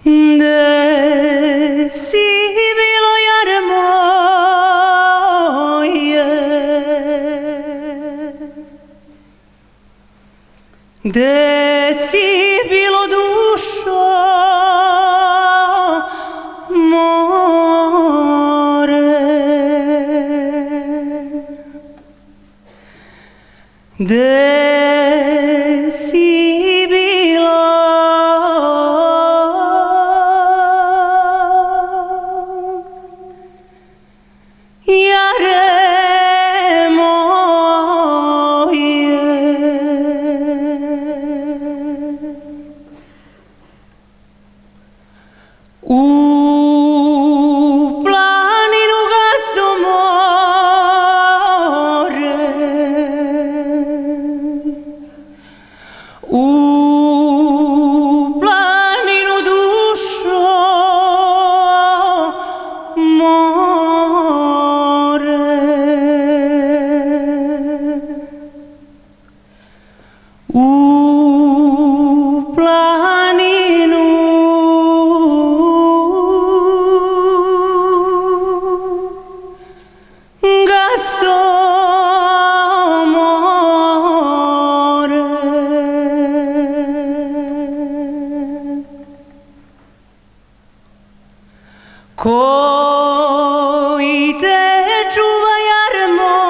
Gde si bilo jare moje, gde si bilo dušo more, gde si u planinu gazdo more, u planinu dušo more, u planinu gazdo more. Koji te čuva jare moje,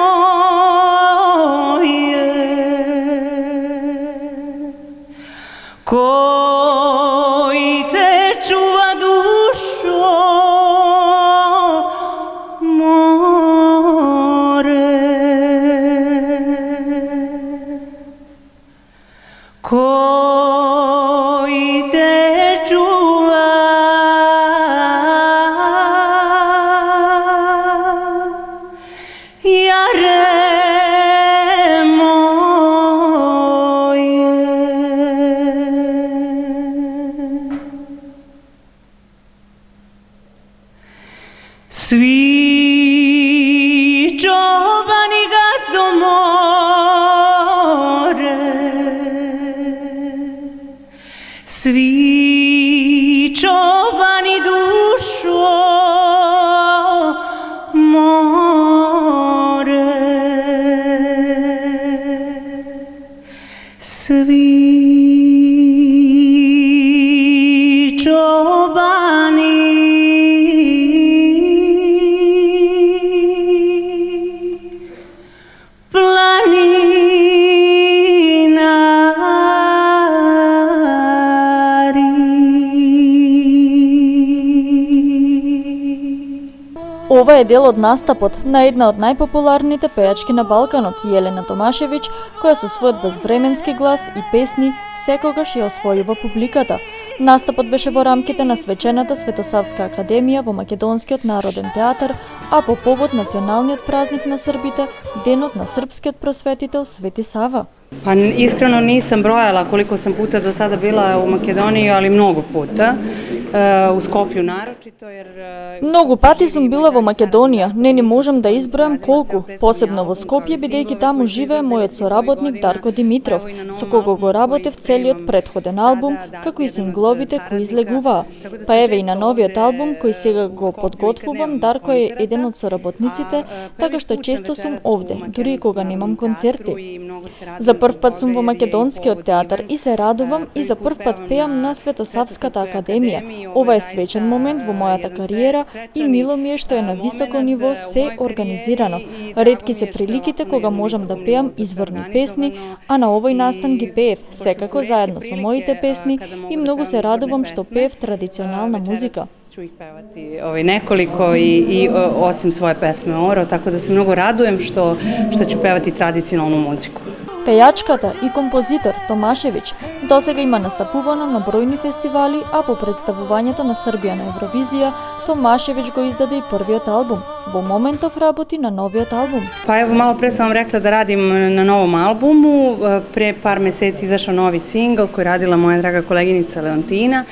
koji te čuva dušo more, koji te čuva jare moje. Svi čobani gazdo more, svi čobani dušo more, svi čobani Ова е дел од настапот на една од најпопуларните пејачки на Балканот, Јелена Томашевиќ, која со својот безвременски глас и песни секогаш ја освојува публиката. Настапот беше во рамките на свечената Светосавска академија во Македонскиот народен театар, а по повод националниот празник на србите, денот на српскиот просветител Свети Сава. Pa iskreno nisam brojala koliko sam puta do sada bila u Makedoniji, ali mnogo puta. U Skopju naročito jer Многу пати сум била во Македонија, не можам да избројам колку, посебно во Скопје бидејќи таму живее мојот соработник Дарко Димитров, со кого го работев целиот претходен албум, како и сингловите кои излегуваа. Па еве и на новиот албум кој сега го подготвувам, Дарко е еден од соработниците, така што често сум овде, дури и кога немам концерти. За прв пат сум во Македонскиот театар и се радувам и за прв пат пеам на Светосавската академија. Ова е свечен момент во мојата кариера и мило ми е што е на високо ниво се организирано. Ретки се приликите кога можам да пеам изворни песни, а на овој настан ги пеев секако заедно со моите песни и многу се радувам што пеев традиционална музика. ću ih pevati nekoliko i osim svoje pesme Oro, tako da se mnogo radujem što ću pevati tradicionalnu muziku. Пејачката и композитор Томашевиќ досега има настапувано на бројни фестивали, а по представувањето на Србија на Евровизија, Томашевиќ го издаде и првиот албум. Во моментов работи на новиот албум. Pa evo, malo pre sam vam rekla da radim na novom albumu. Pre par meseci izašao novi singl koji radila moja draga koleginica Leontina.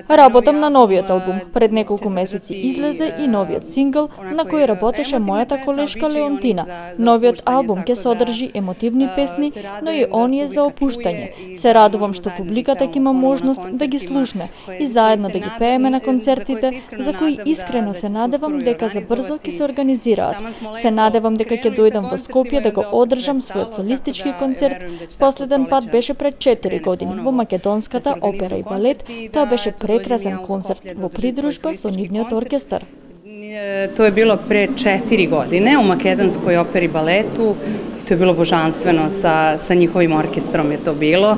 Работам на новиот албум. Пред неколку месеци излезе и новиот сингл на кој работеше мојата колешка Леонтина. Новиот албум ќе содржи емотивни песни, но и оние за опуштање. Се радувам што публиката ќе има можност да ги слушне и заедно да ги пееме на концертите, за кои искрено се надевам дека за брзо ќе се организираат. Се надевам дека ќе дојдам во Скопје да го одржам својот солистички концерт. Последен пат беше пред 4 години во Македонската опера и балет. Тоа беше прекрасен концерт во придружба со нивниот оркестар. To je bilo pre 4 godine u Makedonskoj operi i baletu. To je bilo božanstveno, sa njihovim orkestrom je to bilo.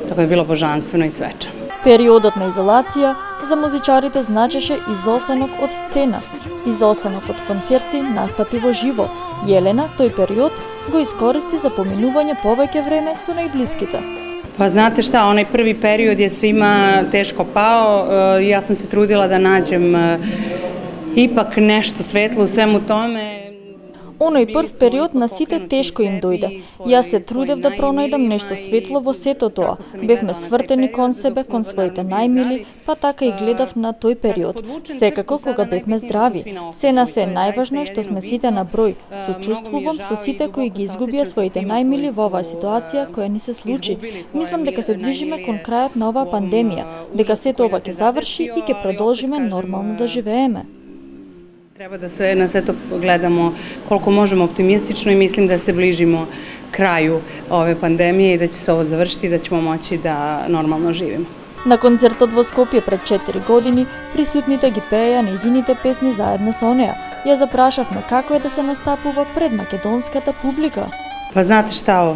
Tako je bilo božanstveno i svečano. Периодот на изолација за музичарите значеше изостанок од сцена. Изостанок од концерти, настапи во живо. Јелена тој период го искористи за поминување повеќе време со најблиските. Pa znate šta, onaj prvi period je svima teško pao. Ja sam se trudila da nađem ipak nešto svetlo u svemu tome. Оној прв период на сите тешко им дојде. Јас се трудев да пронајдам нешто светло во сето тоа. Бевме свртени кон себе, кон своите најмили, па така и гледав на тој период. Секако кога бевме здрави. Се на се најважно што сме сите на број. Сочувствувам со сите кои ги изгубија своите најмили во оваа ситуација која ни се случи. Мислам дека се движиме кон крајот на оваа пандемија, дека сето ова ќе заврши и ќе продолжиме нормално да живееме. Treba da na sve to gledamo koliko možemo optimistično i mislim da se bližimo kraju ove pandemije i da će se ovo završiti i da ćemo moći da normalno živimo. На концертот во Скопје пред 4 години, присутните ги пееја нејзините песни заедно со неа. Ја запрашавме како е да се настапува пред македонската публика. Pa znate šta,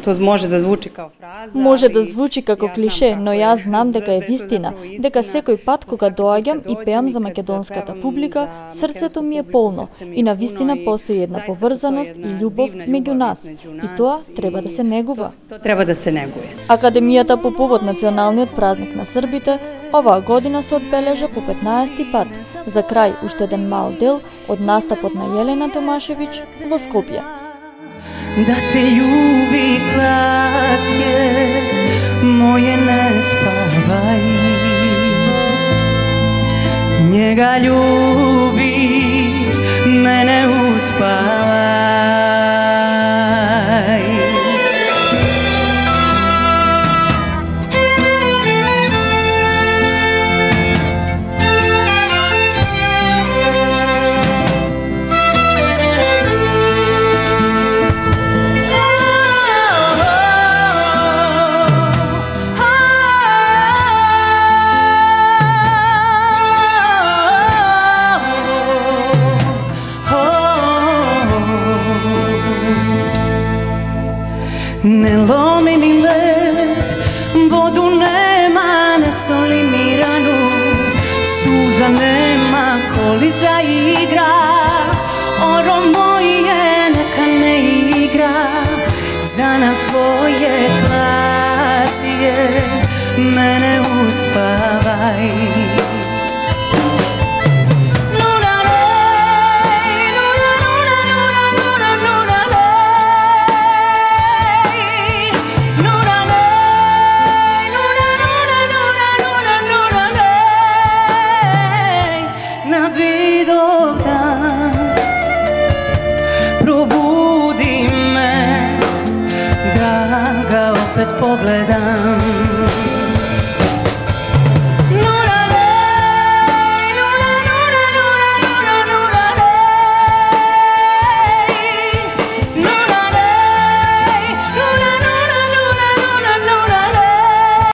to može da zvuči kao fraza. Може да звучи како клише, но јас знам дека е вистина, дека секој пат кога доаѓам и пеам за македонската публика, срцето ми е полно и на вистина постои една поврзаност и љубов меѓу нас. И тоа треба да се негува. Треба да се негuje. Академијата по повод националниот празник на србите оваа година се одбележа по 15-ти пат. За крај уште еден мал дел од настапот на Јелена Томашевиќ во Скопје. Da te ljubi klasje moje ne spavaj, njega ljubi, mene uspavaj. Ne lomi mi led, vodu nema, ne soli mi ranu, suza nema, koli zaigra, oro moje neka ne igra, za nas svoje klasije, mene uspavaj.